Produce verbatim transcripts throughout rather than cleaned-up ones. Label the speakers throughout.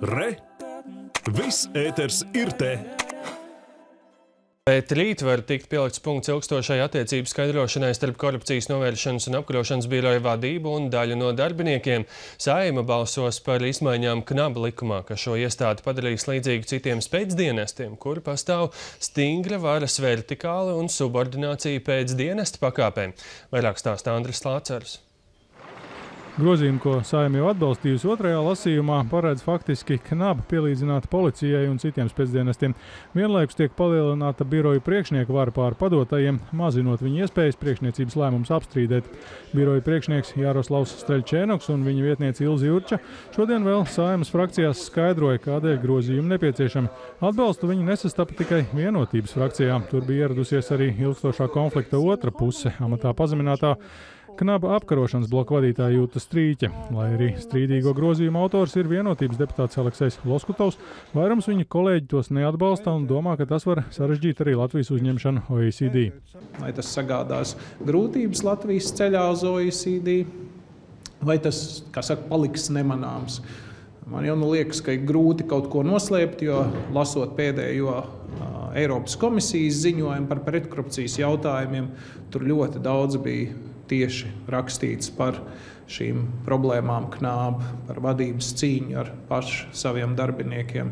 Speaker 1: Re! Viss ēters ir te!
Speaker 2: Bet rīt var tikt pielikts punkts ilgstošai attiecību skaidrošanai starp Korupcijas novēršanas un apkarošanas biroja vadību un daļu no darbiniekiem. Saeima balsos par izmaiņām Knaba likumā, ka šo iestādi padarīs līdzīgu citiem spēcdienestiem, kur pastāv stingra varas vertikāla un subordinācija pēc dienesta pakāpēm. Vairāk stāsta Andris Lācers.
Speaker 3: Grozījumi, ko Saeima jau atbalstījusi otrajā lasījumā, paredz faktiski Knabu pielīdzināt policijai un citiem spēcdienestiem. Vienlaikus tiek palielināta biroju priekšnieku vara pār padotajiem, mazinot viņu iespējas priekšniecības lēmumus apstrīdēt. Biroju priekšnieks Jaroslavs Streļčēnoks un viņa vietniece Ilze Jurča šodien vēl Saeimas frakcijās skaidroja, kādēļ grozījumi nepieciešami. Atbalstu viņi nesastapa tikai Vienotības frakcijā. Tur bija ieradusies arī ilgstošā konflikta otra puse, amatā pazeminātā Knaba apkarošanas bloka vadītāja Jūta Strīķe. Lai arī strīdīgo grozījumu autors ir Vienotības deputāts Aleksejs Loskutovs, vairums viņa kolēģi tos neatbalsta un domā, ka tas var sarežģīt arī Latvijas uzņemšanu O E C D.
Speaker 4: Vai tas sagādās grūtības Latvijas ceļā uz O E C D, vai tas, kā saka, paliks nemanāms? Man jau nu liekas, ka ir grūti kaut ko noslēpt, jo lasot pēdējo uh, Eiropas komisijas ziņojumu par pretkorupcijas jautājumiem, tur ļoti daudz bija tieši rakstīts par šīm problēmām Knabu, par vadības cīņu ar pašu saviem darbiniekiem.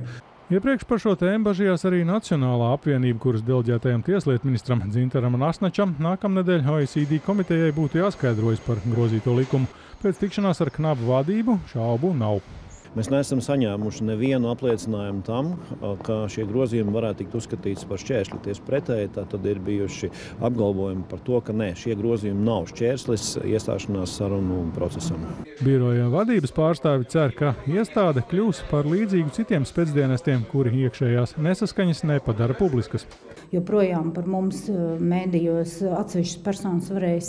Speaker 3: Iepriekš par šo tēmu bažījās arī Nacionālā apvienība, kuras deleģētajam tieslietu ministram Dzintaram Nasnačam nākamnedēļ O E C D komitejai būtu jāskaidrojas par grozīto likumu. Pēc tikšanās ar Knabu vadību šaubu nav.
Speaker 5: Mēs neesam saņēmuši nevienu apliecinājumu tam, ka šie grozījumi varētu tikt uzskatīts par šķērsli. Tieši pretēji, tad ir bijuši apgalvojumi par to, ka nē, šie grozījumi nav šķērslis iestāšanās sarunu procesam.
Speaker 3: Biroja vadības pārstāvi cer, ka iestāde kļūs par līdzīgu citiem spēcdienestiem, kuri iekšējās nesaskaņas nepadara publiskas.
Speaker 6: Joprojām par mums mēdījos atsevišķas personas varēs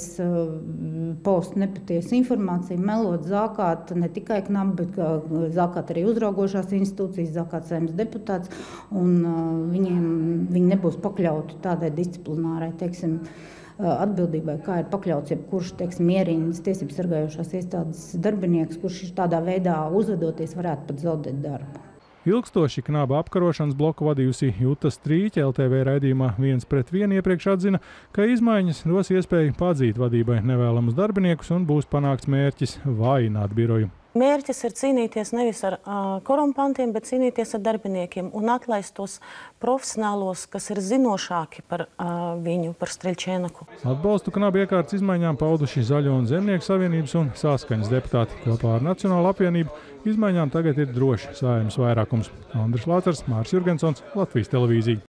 Speaker 6: paust nepatiesu informāciju, melot, zākāt ne tikai Knabu, bet zākāt arī uzraugošās institūcijas, zākāt Saeimas deputāts, un viņiem, viņi nebūs pakļauti tādai disciplinārai, teiksim, atbildībai, kā ir pakļauts jebkurš, teiksim, ierīnas tiesības sargājošās iestādes darbinieks, kurš tādā veidā uzvedoties varētu pat zaudēt darbu.
Speaker 3: Ilgstoši Knaba apkarošanas bloku vadījusi Jūta Strīķe L T V raidījumā viens pret vienu iepriekš atzina, ka izmaiņas dos iespēju padzīt vadībai nevēlamus darbiniekus un būs panākts mērķis vājināt biroju.
Speaker 7: Mērķis ir cīnīties nevis ar uh, korumpantiem, bet cīnīties ar darbiniekiem un atlaist tos profesionālos, kas ir zinošāki par uh, viņu, par Streļčēnoku.
Speaker 3: Atbalstu Knabu iekārtas izmaiņām pauduši Zaļo un Zemnieku savienības un Saskaņas deputāti. Kopā ar Nacionālo apvienību izmaiņām tagad ir droši Saeimas vairākums. Andris Lācers, Māris Jurgensons, Latvijas televīzija.